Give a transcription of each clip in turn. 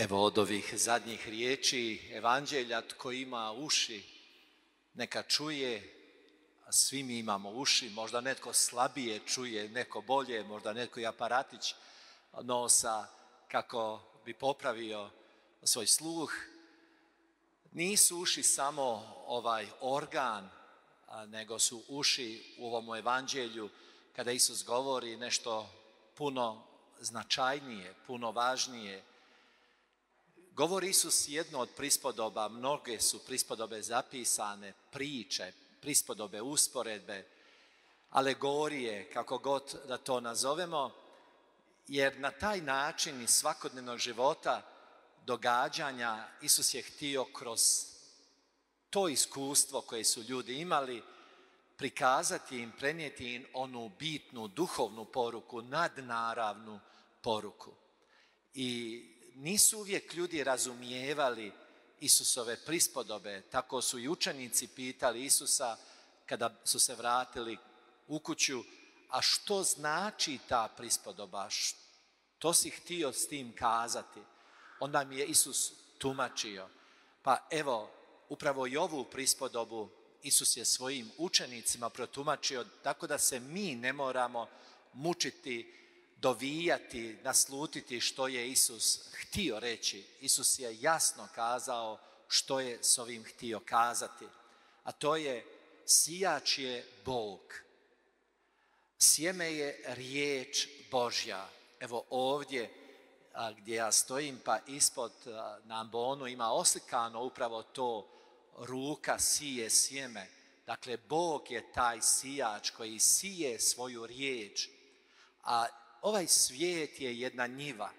Evo od ovih zadnjih riječi evanđelja, tko ima uši, neka čuje, a svi mi imamo uši, možda netko slabije čuje, neko bolje, možda netko i aparatić nosa kako bi popravio svoj sluh. Nisu uši samo ovaj organ, nego su uši u ovom evanđelju kada Isus govori nešto puno značajnije, puno važnije. Govori Isus jedno od prispodoba, mnoge su prispodobe zapisane, priče, prispodobe, usporedbe, alegorije, kako god da to nazovemo, jer na taj način iz svakodnevnog života, događanja, Isus je htio kroz to iskustvo koje su ljudi imali prikazati im, prenijeti im onu bitnu duhovnu poruku, nadnaravnu poruku. I nisu uvijek ljudi razumijevali Isusove prispodobe, tako su i učenici pitali Isusa kada su se vratili u kuću, a što znači ta prispodoba, što si htio s tim kazati? Onda mi je Isus tumačio. Pa evo, upravo i ovu prispodobu Isus je svojim učenicima protumačio tako da se mi ne moramo mučiti, dovijati, naslutiti što je Isus htio reći. Isus je jasno kazao što je s ovim htio kazati. A to je, sijač je Bog. Sjeme je riječ Božja. Evo ovdje gdje ja stojim, pa ispod na ambonu ima oslikano upravo to, ruka sije sjeme. Dakle, Bog je taj sijač koji sije svoju riječ. A ovaj svijet je jedna njiva.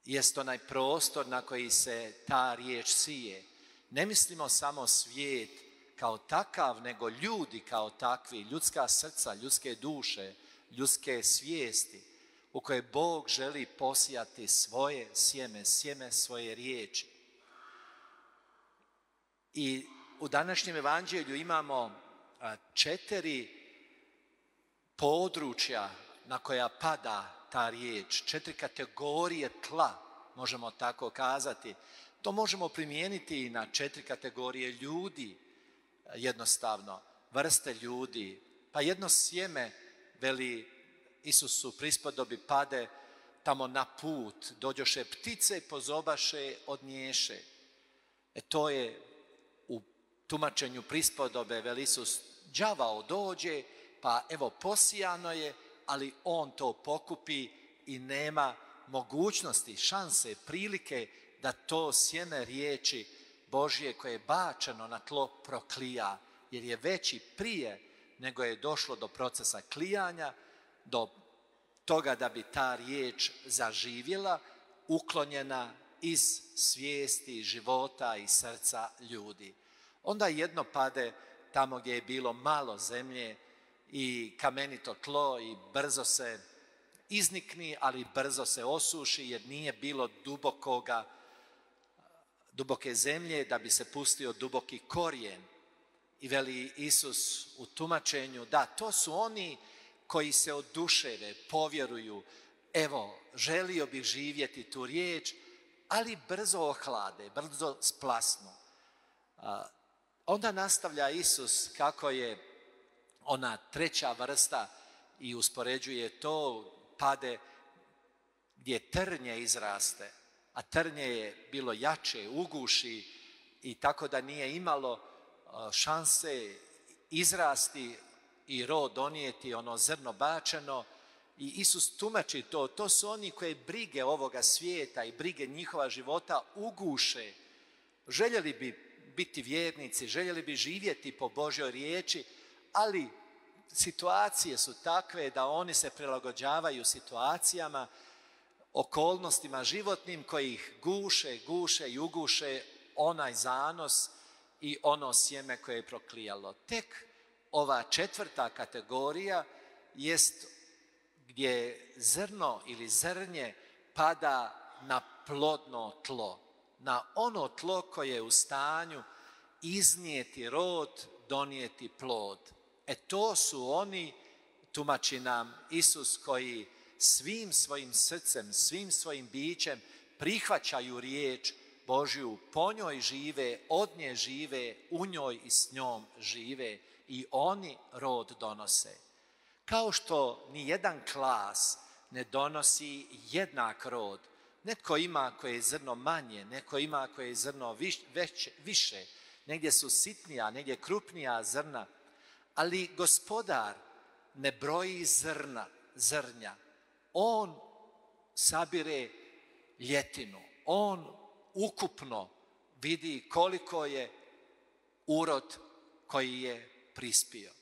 Jest onaj prostor na koji se ta riječ sije. Ne mislimo samo svijet kao takav, nego ljudi kao takvi, ljudska srca, ljudske duše, ljudske svijesti u koje Bog želi posijati svoje sjeme, sjeme svoje riječi. I u današnjem evanđelju imamo 4 područja na koja pada ta riječ, 4 kategorije tla, možemo tako kazati. To možemo primijeniti i na 4 kategorije ljudi, jednostavno, vrste ljudi. Pa jedno sjeme, veli Isus u prispodobi, pade tamo na put, dođoše ptice, pozobaše, odnješe. To je u tumačenju prispodobe, veli Isus, đavao dođe, pa evo posijano je, ali on to pokupi i nema mogućnosti, šanse, prilike da to sjeme riječi Božje koje je bačeno na tlo proklija, jer je već i prije nego je došlo do procesa klijanja, do toga da bi ta riječ zaživjela, uklonjena iz svijesti, života i srca ljudi. Onda jedno pade tamo gdje je bilo malo zemlje i kamenito tlo i brzo se iznikni, ali brzo se osuši jer nije bilo duboke zemlje da bi se pustio duboki korijen. I veli Isus u tumačenju, da, to su oni koji se oduševe, povjeruju, evo, želio bih živjeti tu riječ, ali brzo ohlade, brzo splasnu. Onda nastavlja Isus kako je ona 3. vrsta i uspoređuje to, pade gdje trnje izraste, a trnje je bilo jače, uguši i tako da nije imalo šanse izrasti i rod donijeti, ono zrno bačeno. I Isus tumači to su oni koje brige ovoga svijeta i brige njihova života uguše. Željeli bi biti vjernici, željeli bi živjeti po Božjoj riječi, ali situacije su takve da oni se prilagođavaju situacijama, okolnostima životnim koji ih guše i uguše onaj zanos i ono sjeme koje je proklijalo. Tek ova 4. kategorija jest gdje zrno ili zrnje pada na plodno tlo, na ono tlo koje je u stanju iznijeti rod, donijeti plod. To su oni, tumači nam Isus, koji svim svojim srcem, svim svojim bićem prihvaćaju riječ Božju, po njoj žive, od nje žive, u njoj i s njom žive i oni rod donose. Kao što ni jedan klas ne donosi jednak rod. Netko ima koje je zrno manje, neko ima koje je zrno više, negdje su sitnija, negdje krupnija zrna, ali Gospodar ne broji zrnja. On sabire ljetinu, on ukupno vidi koliko je urod koji je prispio.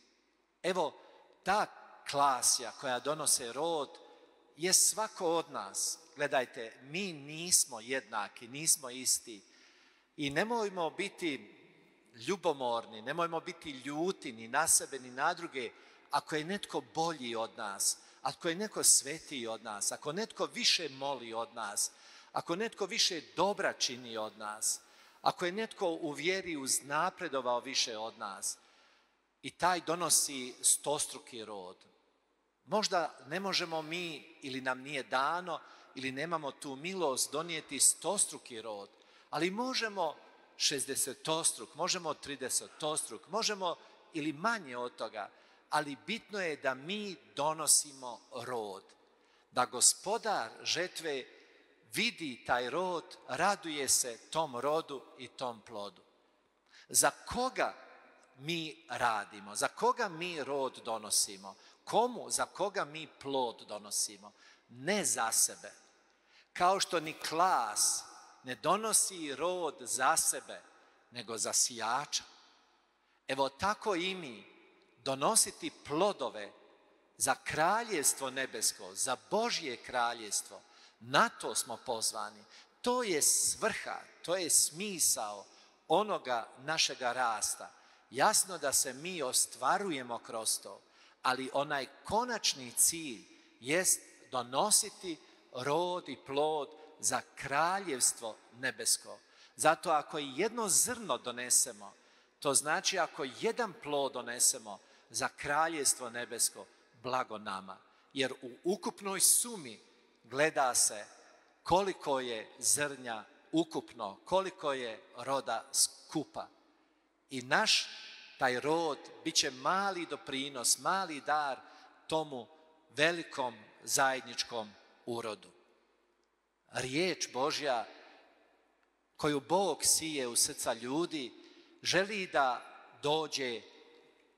Evo, ta klasja koja donose rod je svako od nas. Gledajte, mi nismo jednaki, nismo isti i nemojmo biti ljubomorni, nemojmo biti ljuti ni na sebe ni na druge ako je netko bolji od nas, ako je netko svetiji od nas, ako netko više moli od nas, ako netko više dobra čini od nas, ako je netko u vjeri uznapredovao više od nas i taj donosi stostruki rod. Možda ne možemo mi ili nam nije dano ili nemamo tu milost donijeti stostruki rod, ali možemo 60-struk, možemo 30-struk, možemo ili manje od toga, ali bitno je da mi donosimo rod, da Gospodar žetve vidi taj rod, raduje se tom rodu i tom plodu. Za koga mi radimo? Za koga mi rod donosimo? Komu? Za koga mi plod donosimo? Ne za sebe. Kao što ni klas ne donosi rod za sebe, nego za sijača. Evo tako i mi donositi plodove za kraljevstvo nebesko, za Božje kraljevstvo. Na to smo pozvani. To je svrha, to je smisao onoga našega rasta. Jasno da se mi ostvarujemo kroz to, ali onaj konačni cilj jest donositi rod i plod za kraljevstvo nebesko. Zato ako jedno zrno donesemo, to znači ako jedan plod donesemo za kraljevstvo nebesko, blago nama. Jer u ukupnoj sumi gleda se koliko je zrnja ukupno, koliko je roda skupa. I naš taj rod bit će mali doprinos, mali dar tomu velikom zajedničkom urodu. Riječ Božja koju Bog sije u srca ljudi želi da dođe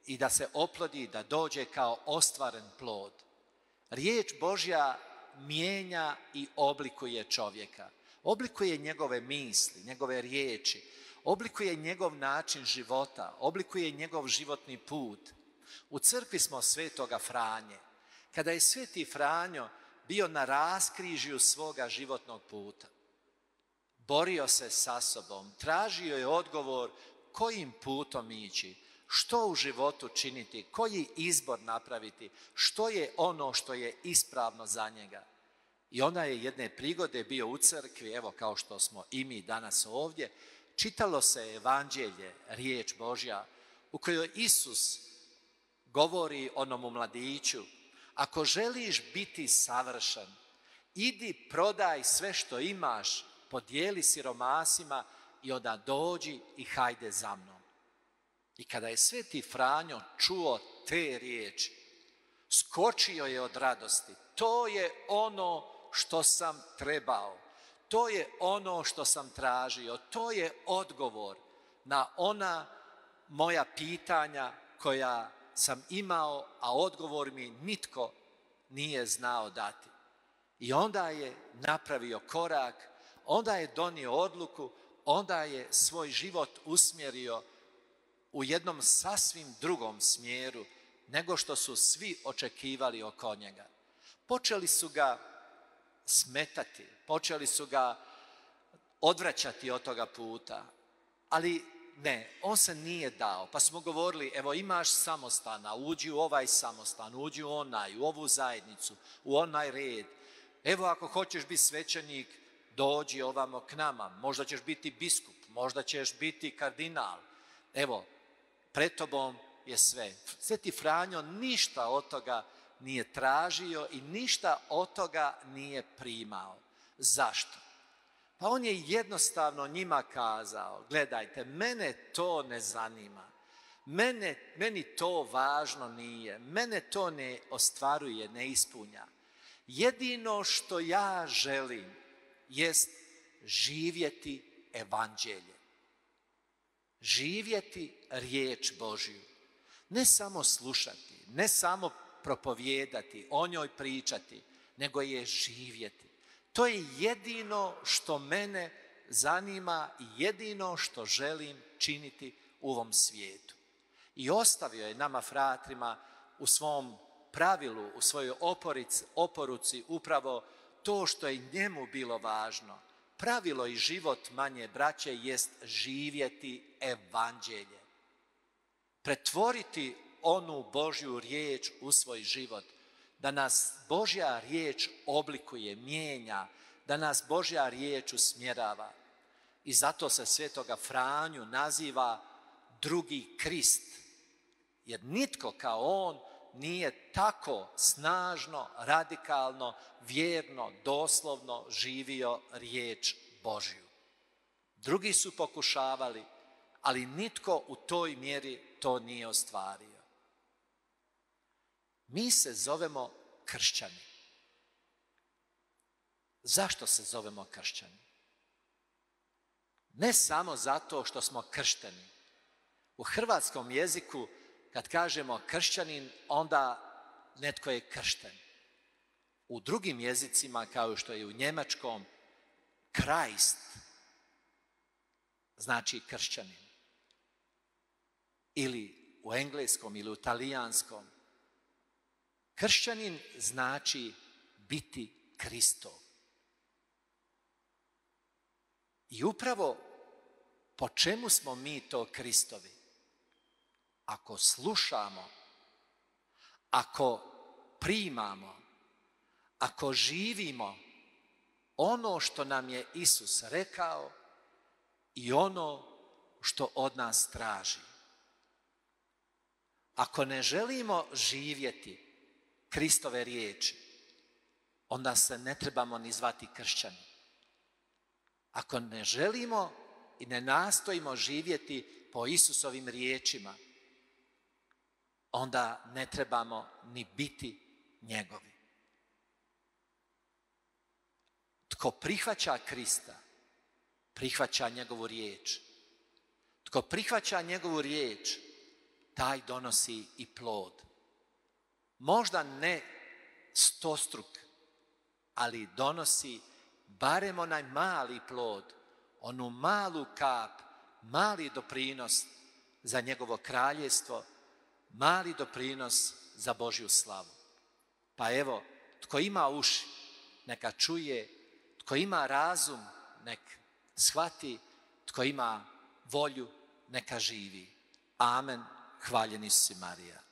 i da se oplodi, da dođe kao ostvaren plod. Riječ Božja mijenja i oblikuje čovjeka. Oblikuje njegove misli, njegove riječi, oblikuje njegov način života, oblikuje njegov životni put. U crkvi smo svetoga Franje. Kada je sveti Franjo bio na raskrižju svoga životnog puta, borio se sa sobom, tražio je odgovor kojim putom ići, što u životu činiti, koji izbor napraviti, što je ono što je ispravno za njega. I onda je jedne prigode bio u crkvi, evo kao što smo i mi danas ovdje, čitalo se evanđelje, riječ Božja, u kojoj Isus govori onomu mladiću: ako želiš biti savršen, idi prodaj sve što imaš, podijeli siromasima i onda dođi i hajde za mnom. I kada je sveti Franjo čuo te riječi, skočio je od radosti. To je ono što sam trebao, to je ono što sam tražio, to je odgovor na ona moja pitanja koja sam imao, a odgovor mi nitko nije znao dati. I onda je napravio korak, onda je donio odluku, onda je svoj život usmjerio u jednom sasvim drugom smjeru nego što su svi očekivali oko njega. Počeli su ga smetati, počeli su ga odvraćati od toga puta, ali ne, on se nije dao. Pa smo govorili, evo imaš samostana, uđi u ovaj samostan, uđi u onaj, u ovu zajednicu, u onaj red. Evo ako hoćeš biti svećenik, dođi ovamo k nama, možda ćeš biti biskup, možda ćeš biti kardinal. Evo, pred tobom je sve. Sveti Franjo ništa od toga nije tražio i ništa od toga nije primao. Zašto? Pa on je jednostavno njima kazao, gledajte, mene to ne zanima, meni to važno nije, mene to ne ostvaruje, ne ispunja. Jedino što ja želim jest živjeti evanđelje, živjeti riječ Božju, ne samo slušati, ne samo propovijedati, o njoj pričati, nego je živjeti. To je jedino što mene zanima i jedino što želim činiti u ovom svijetu. I ostavio je nama fratrima u svom pravilu, u svojoj oporuci upravo to što je njemu bilo važno. Pravilo i život manje braće jest živjeti evanđelje. Pretvoriti onu Božju riječ u svoj život, da nas Božja riječ oblikuje, mijenja, da nas Božja riječ usmjerava. I zato se svetoga Franju naziva drugi Krist, jer nitko kao on nije tako snažno, radikalno, vjerno, doslovno živio riječ Božju. Drugi su pokušavali, ali nitko u toj mjeri to nije ostvario. Mi se zovemo kršćani. Zašto se zovemo kršćani? Ne samo zato što smo kršteni. U hrvatskom jeziku kad kažemo kršćanin, onda netko je kršten. U drugim jezicima, kao što je u njemačkom, Christ znači kršćanin. Ili u engleskom ili u talijanskom. Kršćanin znači biti Kristov. I upravo po čemu smo mi to Kristovi? Ako slušamo, ako primamo, ako živimo ono što nam je Isus rekao i ono što od nas traži. Ako ne želimo živjeti Kristove riječi, onda se ne trebamo ni zvati kršćani. Ako ne želimo i ne nastojimo živjeti po Isusovim riječima, onda ne trebamo ni biti njegovi. Tko prihvaća Krista, prihvaća njegovu riječ. Tko prihvaća njegovu riječ, taj donosi i plod. Možda ne 100-struk, ali donosi barem onaj mali plod, onu malu kap, mali doprinos za njegovo kraljevstvo, mali doprinos za Božju slavu. Pa evo, tko ima uši, neka čuje, tko ima razum, nek shvati, tko ima volju, neka živi. Amen. Hvaljeni si Marija.